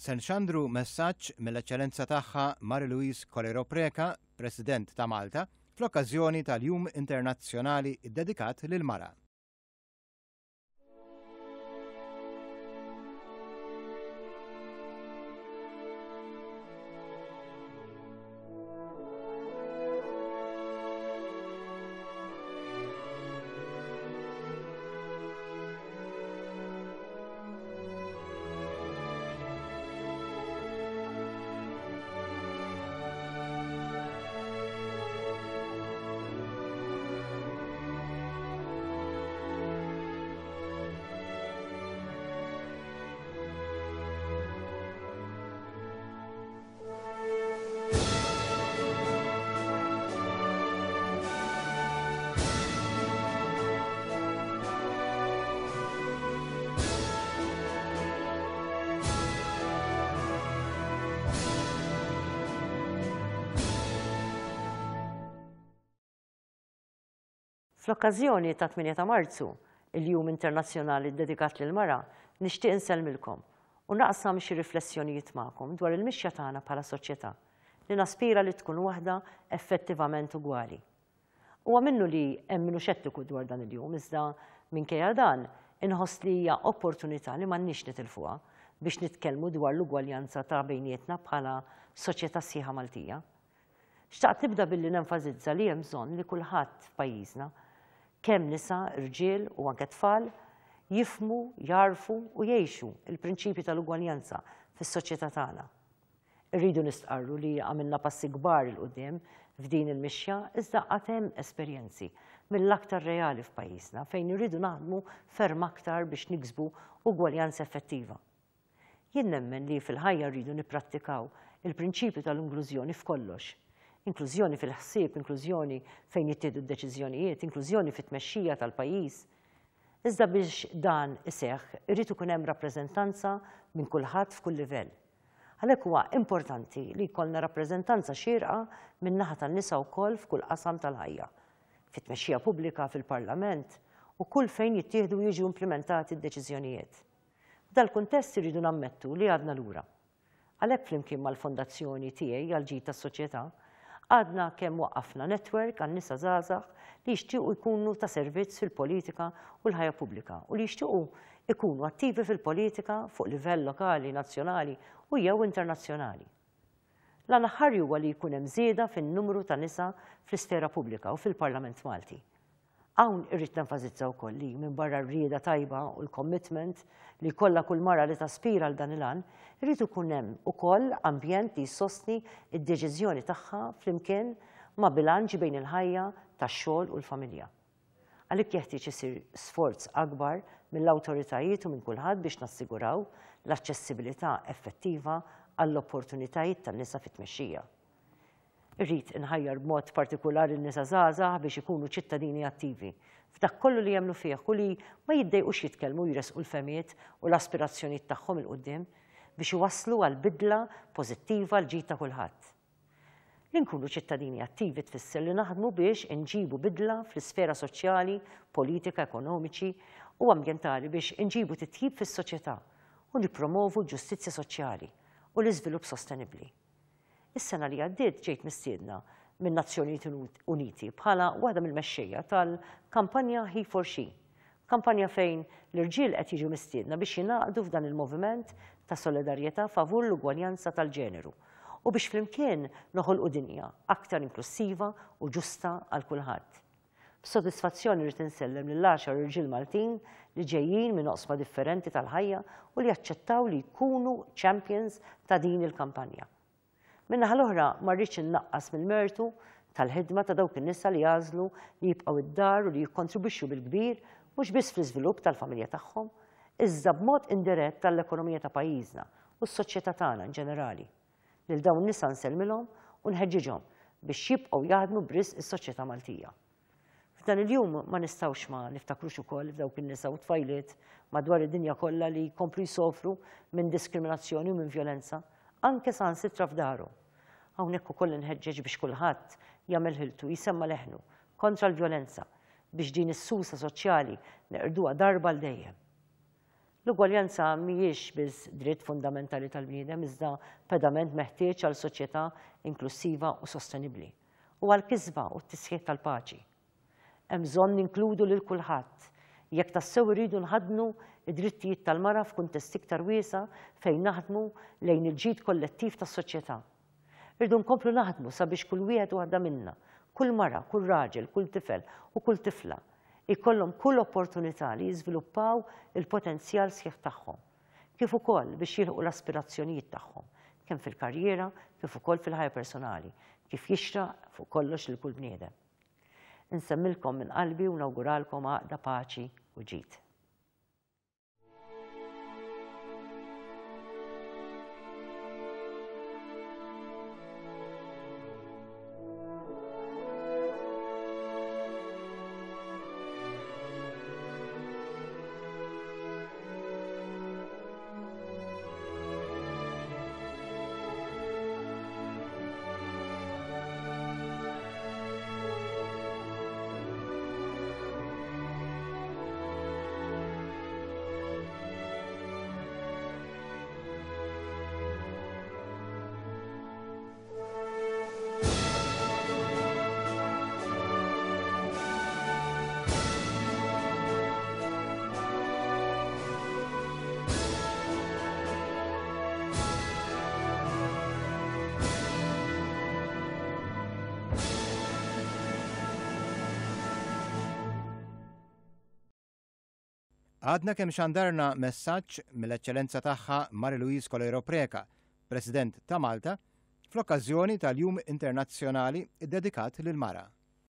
se nxandru messaġġ mill-Eċċellenza Tagħha Marie Louise Coleiro Preca, President ta' Malta, fl-okkażjoni tal-Jum Internazzjonali ddedikat lill-Mara. Fl-okkażjoni tat-8 ta' Marzu, il-Jum Internazzjonali ddedikat lill-Mara, nixtieq insellmilkom u naqsam xi riflessjonijiet magħkom dwar il-mixja tagħna bħala soċjetà li naspira li tkun waħda effettivament ugwali. Huwa minnu li hemm min hu xettiku dwar dan il-jum iżda minkejja dan inħoss li hija opportunità li m'għandniex nitilfuha biex nitkellmu dwar l-ugwaljanza ta' bejnietna bħala soċjetà sħiħa Maltija. Xtaqt nibda billi nenfasizza li hemm bżonn li kulħadd f'pajjiżna, kemm nisa, rġiel u anke tfal, jifhmu, jagħrfu u jgħixu l-prinċipji tal-ugwaljanza fis-soċjetà tagħna. Irridu nistqarru li għamilna passi kbar 'il quddiem f'din il-mixja iżda għad hemm esperjenzi mill-aktar reali f'pajjiżna fejn irridu naħdmu ferm aktar biex niksbu ugwaljanza effettiva. Jien nemmen li fil-ħajja rridu nipprattikaw il-prinċipju tal-inklużjoni f'kollox. Inklużjoni fil-ħsieb, inklużjoni fejn jittieħdu d-deċiżjonijiet, inklużjoni fit-tmexxija tal-pajjiż. Iżda biex dan iseħħ irid ikun hemm rappreżentanza minn kulħadd f'kull livell. Għalhekk huwa importanti li jkollna rappreżentanza xierqa min-naħa tan-nisa wkoll f'kull qasam tal-ħajja, fit-tmexxija pubblika, fil-Parlament u kull fejn jittieħdu u jiġu implimentati d-deċiżjonijiet. F'dal-kuntest irridu nammettu li għadna lura. Għalhekk flimkien mal-Fondazzjoni tiegħi għall-Ġid tas-Soċjetà, għadna kemm waqqafna netwerk għal nisa żgħażagħ li jixtiequ jkunu ta' servizz fil-politika u l-ħajja pubblika u li jixtiequ jkunu attivi fil-politika fuq livell lokali, nazzjonali u jew internazzjonali. L-għan aħħari huwa li jkun hemm żieda fin-numru ta' nisa fl-isfera pubblika u fil-Parlament Malti. Hawn irrid nenfasizza wkoll li, minbarra r-rieda tajba u l-commitment li jkollha kull mara li taspira għal dan il-għan, irid ikun hemm ukoll ambjent li jsostni d-deċiżjoni tagħha flimkien ma' bilanċ bejn il-ħajja tax-xogħol u l-familja. Għalhekk jeħtieġ isir sforz akbar mill-awtoritajiet u minn kulħadd biex nassiguraw l-aċċessibilità effettiva għall-opportunitajiet tan-nisa fit-tmexxija. Irrid inħajjar b'mod partikulari n-nisa żgħażagħ biex ikunu ċittadini attivi f'dak kollu li jemmnu fih u li ma jiddejqux jitkellmu u jressqu l-fehmiet u l-aspirazzjonijiet tagħhom 'il quddiem biex iwasslu għal bidla pożittiva għall-ġid ta' kulħadd. Li nkunu ċittadini attivi tfisser li naħdmu biex inġibu bidla fl-isfera soċjali, politika, ekonomiċi u ambjentali biex inġibu titjib fis-soċjetà u nippromovu l-ġustizzja soċjali u l-iżvilupp sostenibbli. Is-sena li għaddiet ġejt mistiedna min-Nazzjonijiet Uniti bħala waħda mill-mexxejja tal-kampanja He for She, kampanja fejn l-irġiel qed jiġu mistiedna biex jingħaqdu f'dan il-moviment ta' solidarjetà favur l-ugwaljanza tal-ġeneru u biex flimkien noħolqu dinja aktar inklussiva u ġusta għal kulħadd. B'sodisfazzjon irrid insellem lill-għaxar irġiel Maltin li ġejjin minn oqsma differenti tal-ħajja u li aċċettaw li jkunu champions ta' din il-kampanja. Min-naħa l-oħra ma rridx innaqqas mill-mertu tal-ħidma ta' dawk in-nisa li għażlu li jibqgħu id-dar u li jikkontribwixxu bil-kbir mhux biss fl-iżvilupp tal-familja tagħhom, iżda b'mod indirett għall-ekonomija ta' pajjiżna u s-soċjetà tagħna in ġenerali. Lil dawn in-nisa nsellmilhom u nħeġġiġhom biex jibqgħu jaħdmu b'risq is-soċjetà Maltija. F'dan il-jum ma nistgħux ma niftakrux ukoll f'dawk in-nisa u tfajliet madwar id-dinja kollha li jkomplu jsofru minn diskriminazzjoni u minn vjolenza, anke saħansitra f'darhom. Hawnhekk ukoll inħeġġeġ biex kulħadd jagħmel ħiltu jsemma' leħnu kontra l-vjolenza biex din is-susa soċjali neqirduha darba għal dejjem. L-ugwaljanza mhijiex biss dritt fundamentali tal-bniedem iżda pedament meħtieġ għal soċjetà inklussiva u sostenibbli u għall-kisba u t-tisħiħ tal-paċi. Hemm bżonn ninkludu lil kulħadd jekk tassew irridu nħaddnu d-drittijiet tal-mara f'kuntest iktar wiesa' fejn naħdmu lejn il-ġid kollettiv tas-soċjetà. Irridu nkomplu naħdmu sabiex kull wieħed u waħda minna, kull mara, kull raġel, kull tifel u kull tifla, jkollhom kull opportunità li jiżviluppaw il-potenzjal sħiħ tagħhom, kif ukoll biex jilħqu l-aspirazzjonijiet tagħhom, kemm fil-karriera kif ukoll fil-ħajja personali, kif jixraq fuq kollox lil kull bniedem. Insemmilkom minn qalbi u nawguralkom għaqda, paċi u ġid. Għadna kemm xandarna messaġġ mill-Eċċellenza Tagħha Marie Louise Coleiro Preca, President ta' Malta, fl-okkażjoni tal-Jum Internazzjonali ddedikat lill-Mara.